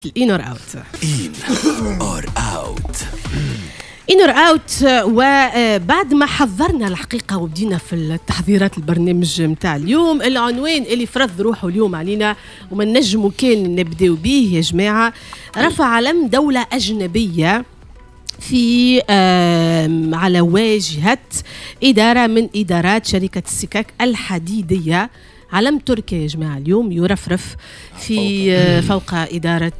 ال in or out. in or out. in or out. وبعد ما حضرنا الحقيقة وبدينا في التحضيرات البرنامج نتاع اليوم، العنوان اللي فرض روحه اليوم علينا وما نجموا كان نبداو به يا جماعه، رفع علم دولة اجنبية في على واجهه ادارة من ادارات شركة السكك الحديديه. علم تركيا يا جماعة اليوم يرفرف في فوق إدارة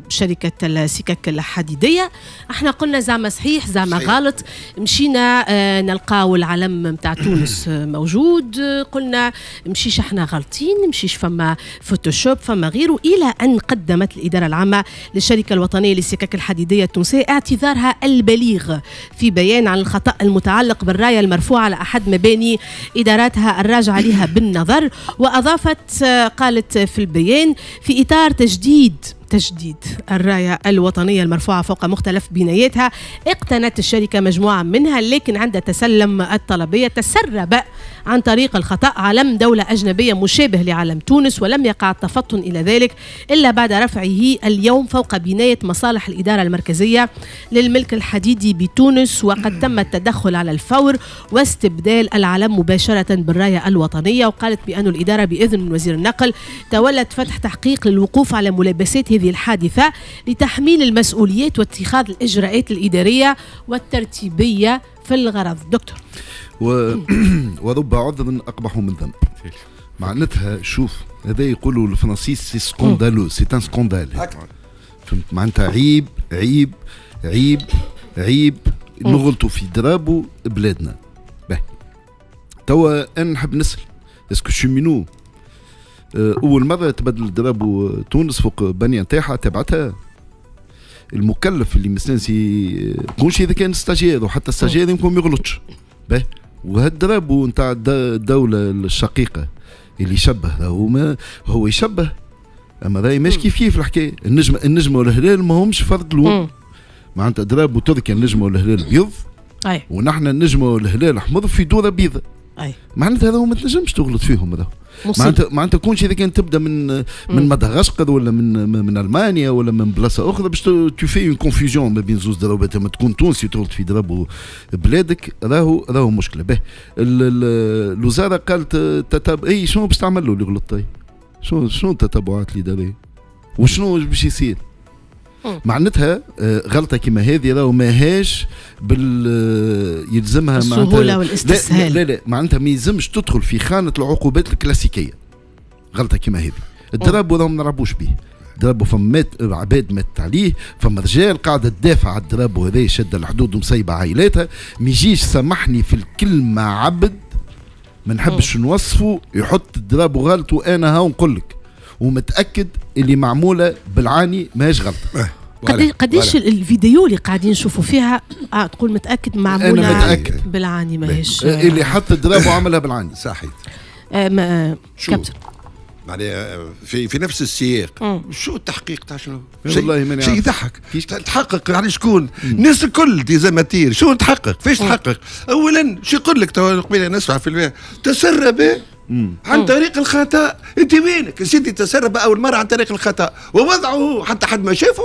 شركة السكك الحديدية. احنا قلنا زعما صحيح زعما غلط، مشينا نلقاو العلم نتاع تونس موجود، قلنا مشيش احنا غلطين، مشيش فما فوتوشوب فما غيره، إلى أن قدمت الإدارة العامة للشركة الوطنية للسكك الحديدية التونسية اعتذارها البليغ في بيان عن الخطأ المتعلق بالراية المرفوعة على أحد مباني إداراتها الراجعة لها بالنظر. وأضافت، قالت في البيان: في إطار تجديد الراية الوطنية المرفوعة فوق مختلف بناياتها، اقتنت الشركة مجموعة منها، لكن عند تسلم الطلبية تسرب عن طريق الخطأ علم دولة أجنبية مشابه لعلم تونس، ولم يقع التفطن إلى ذلك إلا بعد رفعه اليوم فوق بناية مصالح الإدارة المركزية للملك الحديدي بتونس، وقد تم التدخل على الفور واستبدال العلم مباشرة بالراية الوطنية. وقالت بأن الإدارة بإذن من وزير النقل تولت فتح تحقيق للوقوف على ملابسات هذه الحادثة لتحميل المسؤوليات واتخاذ الإجراءات الإدارية والترتيبية في الغرض. دكتور. ورب عذر أقبح من ذنب. معناتها شوف، هذا يقولوا الفرنسيس c'est scandaleux، c'est un scandale، فهمت؟ معناتها عيب عيب عيب عيب نغلطوا في drapeau بلادنا. باهي، توا انا نحب نسال: est-ce que cheminot اول مرة تبدل drapeau تونس فوق بنيه نتاعها تبعتها؟ المكلف اللي مستانسي كونش اذا كان stagiaire، وحتى stagiaire يمكن ما يغلطش. باهي، وهال drapeau نتاع الدولة الشقيقة اللي يشبه، هو ما هو يشبه، اما راهي مش كيف كيف الحكايه. النجمه، النجمة والهلال ما همش فرد لون. معناتها drapeau تركيا النجمة والهلال بيض، ونحن النجمة والهلال احمر في دوره بيضاء. معناتها هذا ما تنجمش تغلط فيهم هذا. معناتها كونش اذا كان تبدا من مدغشقر ولا من المانيا ولا من بلاصة اخرى باش tu fais une confusion ما بين زوز دراوات، لما تكون تونسي تغلط في drapeau بلادك راهو مشكلة. به الوزارة قالت تتب اي شنو باش تعمل له اللي غلط؟ شنو التتبعات الادارية وشنو باش يصير؟ معناتها غلطه كما هذه راهو ماهاش بال يلزمها السهولة والاستسهال. لا لا لا، معناتها ما يلزمش تدخل في خانه العقوبات الكلاسيكيه غلطه كما هذه. ال drapeau راهو ما نلعبوش به. drapeau فما عباد مات عليه، فما رجال قاعدة تدافع على ال drapeau هذا، شد الحدود ومسيبه عائلاتها. ما يجيش، سامحني في الكلمه، عبد ما نحبش نوصفه يحط ال drapeau غلط، وانا هاو نقول لك ومتاكد اللي معمولة بالعاني، ماهيش غلطه. قديش الفيديو اللي قاعدين نشوفوا فيها تقول متاكد معمولة؟ أنا متأكد. بالعاني ماهيش. اللي حط ال drapeau عملها بالعاني. صحيح. ما كابتن. معناها في نفس السياق، شو التحقيق تاع شنو؟ والله ماني شيء يضحك. تحقق يعني شكون؟ الناس الكل des amateurs، شو تحقق؟ فيش تحقق؟ اولا شو يقول لك تو قبيلة نسمع في البيان تسرب عن طريق الخطا. انت وينك سيدي؟ تسرب اول مرة عن طريق الخطا ووضعه حتى حد ما شافه،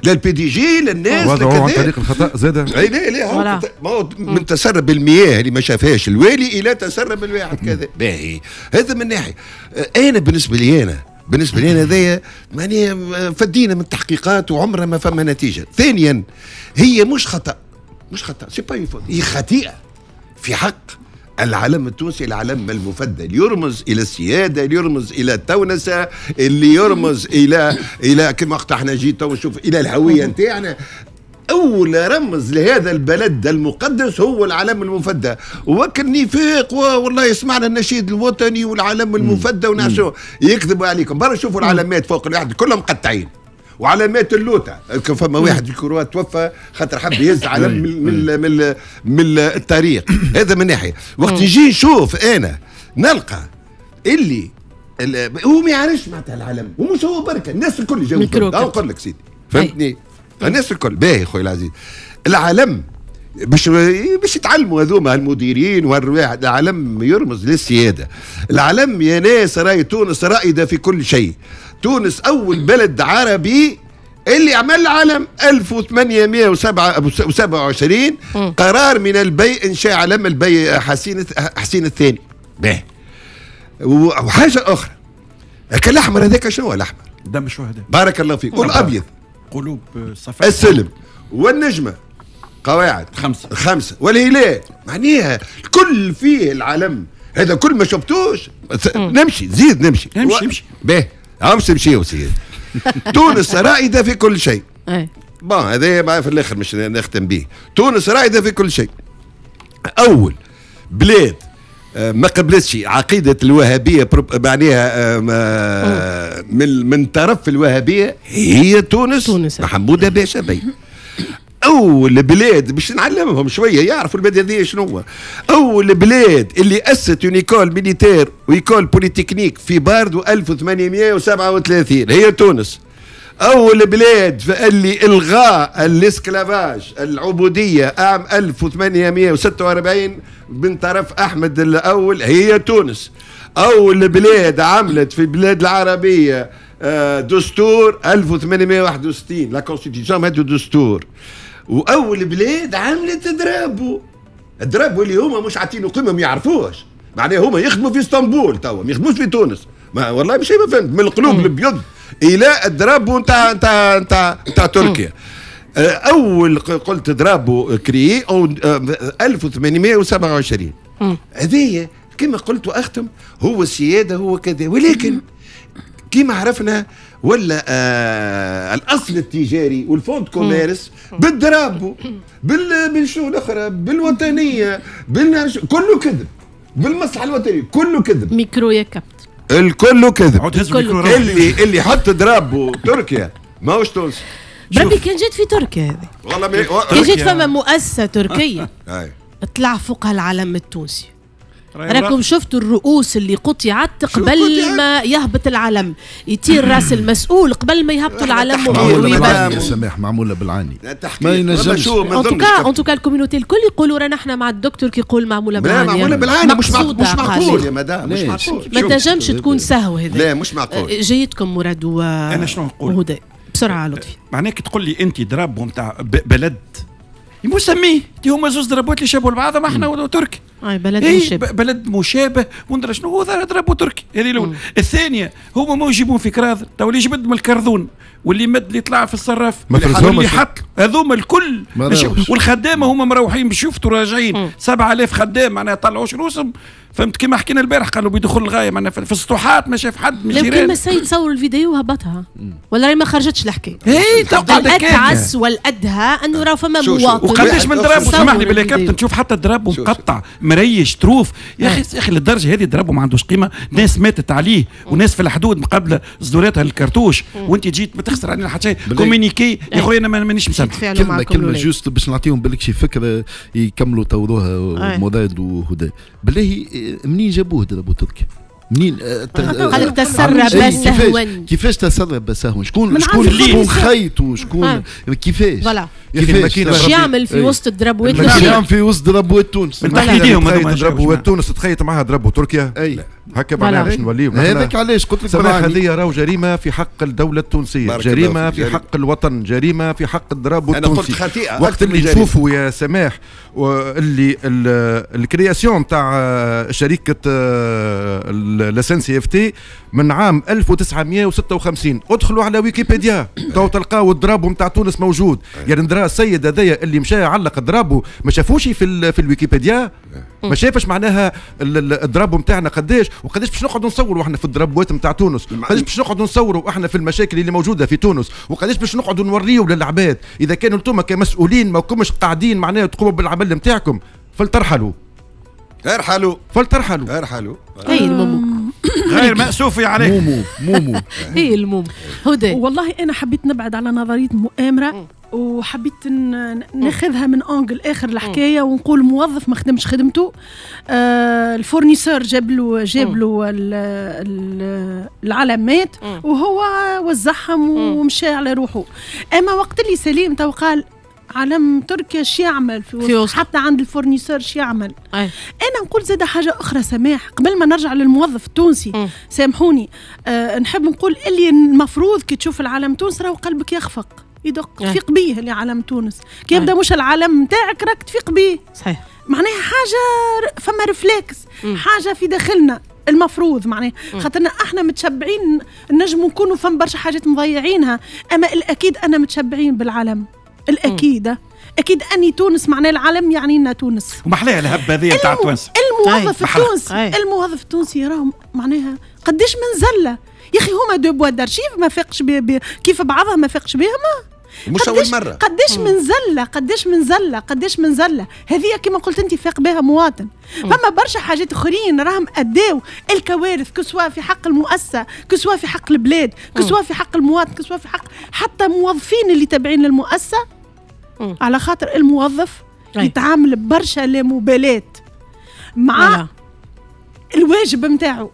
لا ال PDG لا الناس. وضعه عن طريق الخطا زاد. اي لا لا، ما هو من تسرب المياه اللي ما شافهاش الوالي الى تسرب الواحد كذا. باهي، هذا من ناحيه. انا بالنسبه لي انا هذايا معني فدينا من التحقيقات وعمرها ما فما نتيجه. ثانيا، هي مش خطا، مش خطا، c'est pas une faute، هي خطيئة في حق العلم التونسي، العلم المفدى اللي يرمز الى السياده، اللي يرمز الى التونسه، اللي يرمز الى كما وقت احنا جيت تو نشوف الى الهوية نتاعنا. اول رمز لهذا البلد المقدس هو العلم المفدى. وكل نفاق، والله سمعنا النشيد الوطني والعلم المفدى ونعشو يكذبوا عليكم. برا شوفوا العلامات فوق الواحد كلهم مقطعين، وعلامات اللوطه. فما واحد في كروات توفى خاطر حب يهز علم من الطريق. هذا من ناحيه. وقت نجي نشوف انا نلقى اللي هو ما يعرفش معناتها العلم، ومش هو بركه، الناس الكل جاوا. نقول لك سيدي، فهمتني، الناس الكل. باهي خويا العزيز، العلم باش يتعلموا هذوما المديرين والواحد، العلم يرمز للسياده. العلم يا ناس راي تونس رائدة في كل شيء. تونس اول بلد عربي اللي عمل علم 1827 قرار من البي انشاء علم البي حسين الثاني. باهي. وحاجه اخرى، الاحمر هذاك شنو هو الاحمر؟ دم الشهداء. بارك الله فيك. والابيض قلوب صفاء السلم، والنجمه قواعد خمسة، والهلال، معناها الكل فيه العلم هذا. كل ما شفتوش نمشي زيد نمشي نمشي باهي، عاوز نمشي سيدي. تونس رائدة في كل شيء. bon هذا في الاخر مش نختم به. تونس رائدة في كل شيء. اول بلاد ما قبلتش عقيدة الوهابية، معناها من طرف الوهابية هي تونس، حموده باشا بي. اول بلاد باش نعلمهم شوية يعرفوا البلاد هذه شنو هو. اول بلاد اللي اسست une école militaire و école polytechnique في باردو 1837 هي تونس. اول بلاد اللي الغاء ال esclavage العبودية عام 1846 من طرف احمد الاول هي تونس. اول بلاد عملت في البلاد العربية دستور 1861 la constitution هذا دستور. واول بلاد عملت drapeau، ال drapeau اللي هما مش عاطينه قيمة، ما يعرفوش، معناها هما يخدموا في اسطنبول توا، ما يخدموش في تونس. ما والله مش ما فهمت، من القلوب الابيض الى ال drapeau نتاع نتاع نتاع نتاع تركيا. اول قلت drapeau créé 1827. هذه كما قلت واختم، هو السيادة هو كذا، ولكن كما عرفنا ولا الاصل التجاري وال fonds de commerce بال drapeau بالشو الاخرى بالوطنيه كله كذب، بالمصلحة الوطنية كله كذب. ميكرو يا كابتن، الكل كذب. اللي حط drapeau تركيا ماهوش تونسي. بربي كان جات في تركيا هذه والله كان جات فما مؤسسة تركيه طلع فوقها العلم التونسي، راكم شفتوا الرؤوس اللي قطعت قبل ما يهبط العلم، يطير راس المسؤول قبل ما يهبطوا العلم. معمولة بالعاني يا سماح، معمولة بالعاني، ما ينجمش. en tout cas ال communauté الكل يقولوا رانا احنا مع الدكتور كي يقول معمولة بالعاني. معمولة بالعاني مش معقول يا مدام، مش معقول، ما تنجمش تكون سهو هذا. لا مش معقول. جيتكم مراد و انا شنو نقول؟ وهدى بسرعة لطفي. معناك تقول لي انت drapeau نتاع بلد مسميه، هما زوز drapeau ات اللي شابوا لبعضهم احنا وتركي. اي بلد مشابه، بلد مشابه وندرى شنو هو drapeau تركي. هذه الاولى. الثانية هما ما يجيبون في كراذ، تو اللي جبد من الكرذون واللي مد اللي طلع في الصراف واللي حط هذوما الكل، والخدامه هما مروحين باش يفتوا راجعين 7000 خدام معناها طلعوش روسهم، فهمت؟ كما حكينا البارح قالوا بيدخل الغاية معناها في السطوحات ما شاف حد من الجيران. لو السيد صور الفيديو وهبطها ولا ما خرجتش الحكاية. اي تقعد الاتعس والادهى انه راه فما مواطن. وقداش من drapeau، سامحني بالله كابتن، تشوف حتى drapeau مقطع مريش طروف يا اخي، يا اخي للدرجة هذه drapeau ما عندوش قيمة، ناس ماتت عليه وناس في الحدود مقابله صدوراتها الكرتوش، وانت جيت ما تخسر علينا حتى شيء. communiqué يا خويا انا مانيش مسامح. كلمة juste باش نعطيهم بالك شي فكرة يكملوا طوروها مراد وهدى. بالله منين جابوه drapeau تركيا؟ منين قال لك تسرب سهوا؟ كيفاش تسرب سهوا؟ شكون شكون خيطوا؟ شكون كيفاش؟ كيفاش يعمل في وسط ال drapeau ات؟ يعمل في وسط drapeau ات تونس؟ من تحت drapeau ات تونس تخيط معها drapeau تركيا. اي هكا معناها باش نوليو هذاك علاش قلت لك هذه راهو جريمة في حق الدولة التونسية، جريمة في حق الوطن، جريمة في حق ال drapeau التونسي. وقت اللي تشوفوا يا سماح اللي ال création تاع شركة ال SNCFT من عام 1956، ادخلوا على ويكيبيديا تو تلقاو ال drapeau نتاع تونس موجود. يعني ندرا السيد هذايا اللي مشى علق drapeau ما شافوش في الويكيبيديا، ما شافش معناها ال drapeau نتاعنا قداش وقداش باش نقعدوا نصوروا احنا في ال drapeau ات نتاع تونس، قداش باش نقعدوا نصوروا احنا في المشاكل اللي موجودة في تونس، وقداش باش نقعدوا نوريوا للعباد. اذا كانوا انتم كمسؤولين ما كومش قاعدين معناها تقوموا بالعمل نتاعكم فلترحلوا. ارحلوا فلترحلوا ارحلوا. هي المومو غير مأسوف عليك. مومو مومو هي المومو هدى. والله انا حبيت نبعد على نظرية مؤامرة وحبيت ناخذها من angle اخر الحكاية ونقول موظف ما خدمش خدمته، ال fournisseur جاب له العلامات وهو وزعهم ومشى على روحه. اما وقت اللي سليم تو قال علم تركيا شو يعمل في وسط حتى عند ال fournisseur شو يعمل. انا نقول زاد حاجة اخرى سماح قبل ما نرجع للموظف التونسي، سامحوني، نحب نقول اللي المفروض كي تشوف العلم تونس راهو قلبك يخفق يدق، تفيق بيه اللي علم تونس كي يبدا مش العلم نتاعك راك تفيق بيه. صحيح، معناها حاجة فما réflexe، حاجة في داخلنا المفروض، معناها خاطرنا احنا متشبعين، نجموا نكونوا فما برشا حاجات مضيعينها، اما الاكيد انا متشبعين بالعلم، الاكيد اكيد اني تونس، معناها العلم يعني لنا تونس. ومحلاها الهبة هذه نتاع تونس. الموظف التونسي، الموظف التونسي راهم معناها قداش من زلة يا اخي، هما deux boîtes d'archives ما فاقش كيف بعضها ما فاقش بهم، مش اول مرة. قداش من زلة، قداش من زلة، قداش من زلة هذه كما قلت انت فاق بها مواطن. فما برشا حاجات اخرين راهم اداو الكوارث، que ce soit في حق المؤسسة، que ce soit في حق البلاد، que ce soit في حق المواطن، que ce soit في حق حتى موظفين اللي تابعين للمؤسسه، على خاطر الموظف يتعامل برشا لا مبالاة مع الواجب نتاعو.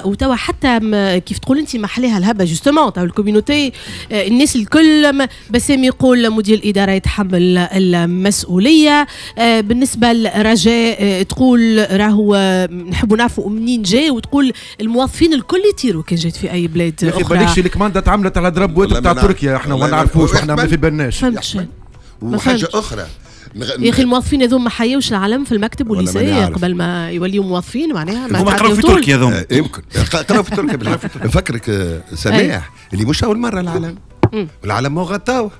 وتوا حتى كيف تقول انت محليها الهبة justement تاع ال communauté، الناس الكل. بسام يقول مدير الادارة يتحمل المسؤولية. بالنسبة لرجاء تقول راهو نحبوا نعرفوا منين جاي، وتقول الموظفين الكل يطيروا كان جات في اي بلاد اخرى. بالكش ال commande تعملت على درابوات تاع تركيا، احنا ما نعرفوش، احنا ما في بالناش. وحاجه اخرى يا اخي الموظفين هذوما ما حيوش العلم في المكتب وال lycée قبل ما يوليوا موظفين، معناها هما قراو في تركيا هذوما. يمكن قراو في تركيا. نفكرك سماح اللي مش اول مرة العلم، العلم هو غطاوه،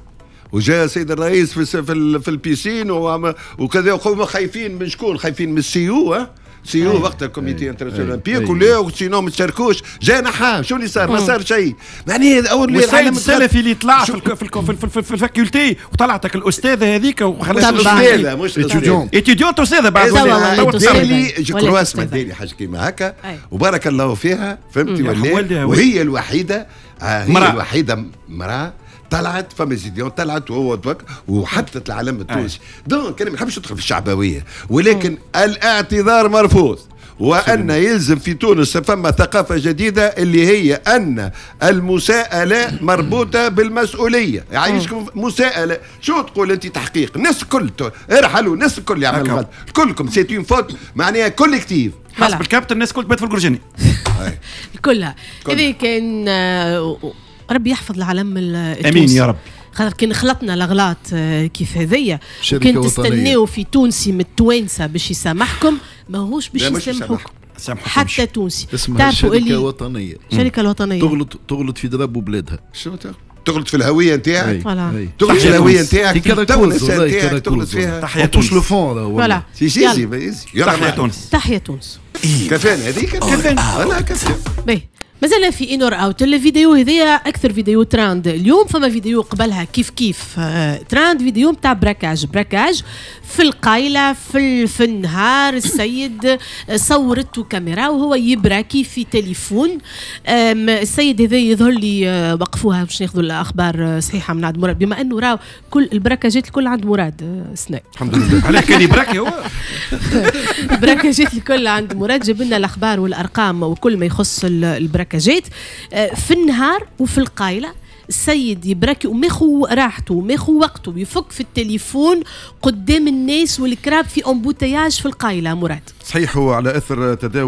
وجاء السيد الرئيس في ال piscine وكذا، وهم خايفين من شكون؟ خايفين من ال CIO، CIO وقتها ال comité international olympique، ولا sinon ما تشاركوش. جا نحاه، شو اللي صار؟ ما صار شيء. معناها اول العالم السلفي اللي طلع في ال faculté وطلعتك الاستاذة هذيك وخلات الاستاذة مش étudiante استاذه بعد دالي je crois اسمها دالي حاجة كيما هكا، وبارك الله فيها، فهمتي ولا؟ وهي الوحيدة، هي الوحيدة مراة طلعت فما زيديون طلعت وهو وحطت العلم التونسي. donc انا ما نحبش ندخل في الشعبوية، ولكن الاعتذار مرفوض، وان يلزم في تونس فما ثقافة جديدة اللي هي ان المساءلة مربوطة بالمسؤولية. يعيشكم مساءله، شو تقول انت؟ تحقيق، الناس الكل ارحلوا، الناس الكل يعمل غلط، كلكم c'est une faute معناها collective. حسب الكابتن الناس الكل تبات في القرجاني كلها. هذه كان ربي يحفظ العلم التونسي. امين يا رب. خاطر كان خلطنا الاغلاط كيف هذيا، كان تستناو في تونسي من التوانسة باش يسامحكم، ماهوش باش يسامحوكم حتى تونسي. اسمها الشركة الوطنية. الشركة الوطنية تغلط في درب بلادها. شو تغلط في الهوية نتاعك، تغلط في الهوية نتاعك، في التونس نتاعك، تغلط فيها. تحيا تونس le fond. voilà سي تحيا تونس، تحيا تونس. كفانا هذيك، كفانا انا كفانا. باهي مازلنا في in or out. الفيديو هذيا اكثر فيديو ترند اليوم، فما فيديو قبلها كيف كيف ترند، فيديو نتاع braquage في القايله في النهار. السيد صورته كاميرا وهو يبراكي في تليفون. السيد هذا يظهر لي وقفوها باش ناخذوا الاخبار صحيحه من عند مراد، بما انه راهو كل البراكاجات الكل عند مراد سناء. الحمد لله. علاه كان يبراكي هو؟ البراكاجات الكل عند مراد، جاب لنا الاخبار والارقام وكل ما يخص البراكاجات في النهار وفي القايله. السيد يبراكي وماخو راحته وماخو وقته، ويفك في التليفون قدام الناس والكراب في embouteillage في القايله. مراد صحيح، هو على اثر تداول